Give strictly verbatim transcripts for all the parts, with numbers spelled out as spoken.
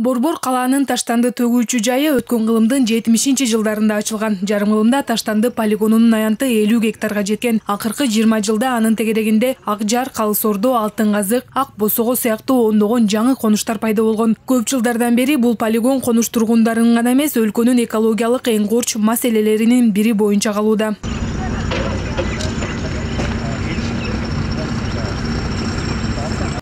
Борбор калаанын таштанды төгүүчү жайы өткөн кылымдын жетимишинчи жылдарында ачылган. Жарым кылымда таштанды полигонунун аянты элүү гектарга жеткен. Акыркы жыйырма жылда анын тегерегинде Ак Жар, Калыс Ордо, Алтын Казык, Ак Босого сыяктуу ондогон жаңы конуштар пайда болгон. Көп жылдардан бери бул полигон конуш тургундарынын гана эмес, өлкөнүн экологиялык эң корч маселелеринин бири боюнча калууда.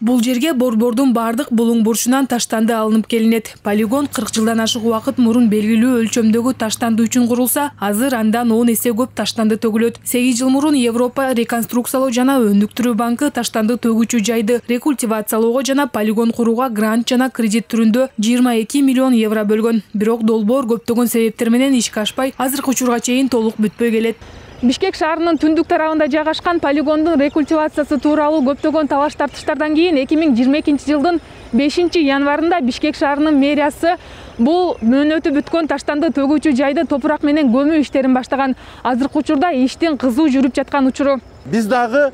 Бул жерге борбордун бардык булуң бурчунан таштанды алынып келинет. Полигон кырк жылдан ашык убакыт мурун белгилүү өлчөмдөгү таштанды үчүн курулса, азыр андан он эсе көп таштанды төгүлөт. сегиз жыл мурун Европа реконструкциялоо жана өнүктүрүү банкы таштанды төгүүчү жайды рекультивациялоого жана полигон курууга грант жана кредит түрүндө жыйырма эки миллион евро бөлгөн. Бирок долбоор көптөгөн себептер менен ишке ашпай, азыркы учурга чейин толук бүтпөй келет. Бишкек шаарынын түндүк тарабында жайгашкан полигондун рекультивациясы тууралуу көптөгөн талаш тартыштардан кийин эки миң жыйырма экинчи жылдын бешинчи январында Бишкек шаарынын мэриясы бул мөөнөтү бүткөн таштанды төгүүчү жайды топурак менен көмүү иштерин баштаган. Азыркы учурда иштин кызуу жүрүп жаткан учуру. Биз дагы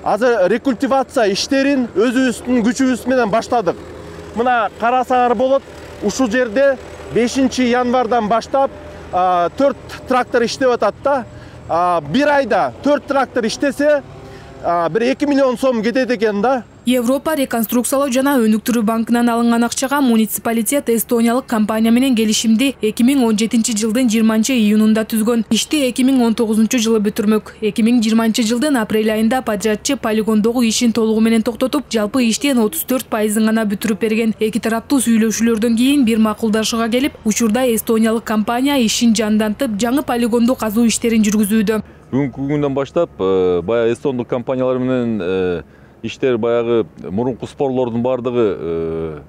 азыр рекультивация иштерин өзүбүздүн күчүбүз менен баштадык. Мына карасаңар болот, ушул жерде бешинчи январдан баштап төрт трактор иштеп атат да. Бир айда төрт трактор иштесе, бир эки миллион сом кетет экен да. Европа реконструкциялоо жана өнүктүрүү банкынан алынган акчага муниципалитет эстониялык компания менен келишимди эки миң он жетинчи жылдын жыйырманчы июнунда түзгөн. Ишти эки миң он тогузунчу жылы бүтүрмөк. эки миң жыйырманчы жылдын апрель айында подрядчы полигондогу ишин толугу менен токтотуп, жалпы иштин отуз төрт пайызын гана бүтүрүп берген. Эки тараптуу сүйлөшүүлөрдөн кийин бир макулдашууга келип, учурда эстониялык компания ишин жандантып, жаңы полигонду казуу иштерин жүргүзүүдө. Бүгүнкү күндөн баштап баягы эстондук компаниялар менен иштер баягы мурунку спорлордун бардыгы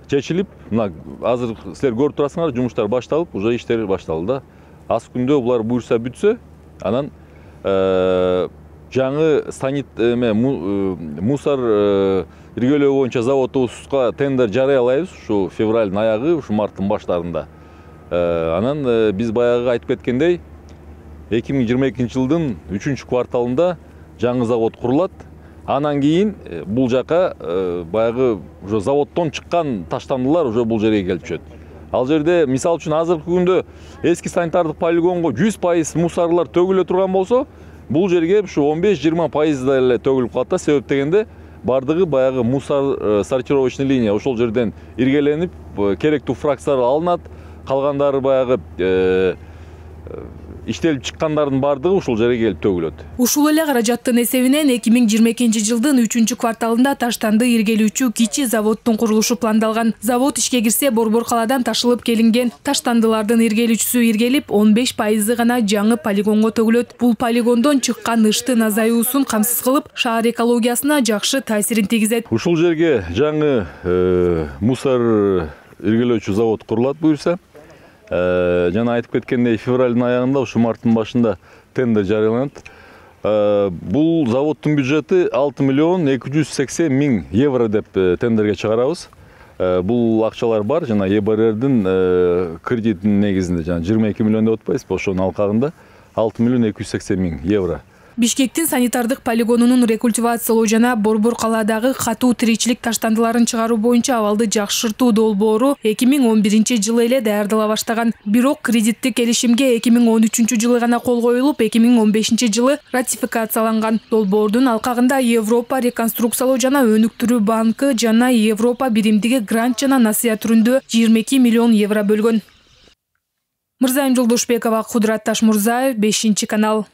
чечилип, мына азыр силер көрүп турасыңар, жумуштар башталып, уже иштер башталды да. Аз күндө булар буюрса бүтсө, анан жаңы санит эме мусор иргөлөө боюнча заводубузга тендер жарыялайбыз ушу февралдын аягы, ушу марттын баштарында. Анан биз баягы айтып кеткендей, эки миң жыйырма экинчи жылдын үчүнчү кварталында жаңы завод курулат. Анан кийин бул жака баягы уже заводдон чыккан таштандылар уже бул жерге келип түшөт. Ал жерде мисал үчүн азыркы күндө эски санитардык полигонго жүз пайыз мусорлор төгүлө турган болсо, бул жерге ушу он беш жыйырма пайыз эле төгүлүп калат да. Себеп дегенде бардыгы баягы мусор сортировочный линия ошол жерден иргеленип, керектүү фракциялар алынат, калгандары баягы иштелип чыккандардын бардыгы ушул жерге келип төгүлөт. Ушул эле каражаттын эсебинен эки миң жыйырма экинчи жылдын үчүнчү кварталында таштанды иргелүүчү кичи заводдун курулушу пландалган. Завод ишке кирсе, борбор калаадан ташылып келинген таштандылардын иргелүүчүсү иргелип, он беш пайызы гана жаңы полигонго төгүлөт. Бул полигондон чыккан ыштын азаюусун камсыз кылып, шаар экологиясына жакшы таасирин тийгизет. Ушул жерге жаңы мусор иргелөөчү завод курулат буюрса, жана айтып кеткендей, февралдын аягында, ушу марттын башында тендер жарыяланат. Бул заводдун бюджети алты миллион эки жүз сексен миң евро деп тендерге чыгарабыз. Бул акчалар бар, жана Е Б Р Дин кредитинин негизинде, жана жыйырма эки миллион деп атпайбызбы, ошонун алкагында алты миллион эки жүз сексен миң евро. Бишкектин санитардык полигонунун рекультивациялоо жана борбор калаадагы катуу тиричилик таштандыларын чыгаруу боюнча абалды жакшыртуу долбоору эки миң он биринчи жылы эле даярдала баштаган. Бирок кредиттик келишимге эки миң он үчүнчү жылы гана кол коюлуп, эки миң он бешинчи жылы ратификацияланган. Долбоордун алкагында Европа реконструкциялоо жана өнүктүрүү банкы жана Европа биримдиги грант жана насыя түрүндө жыйырма эки миллион евро бөлгөн. Мырзайым Жолдошбекова, Кудурат Ташмурзаев, бешинчи канал.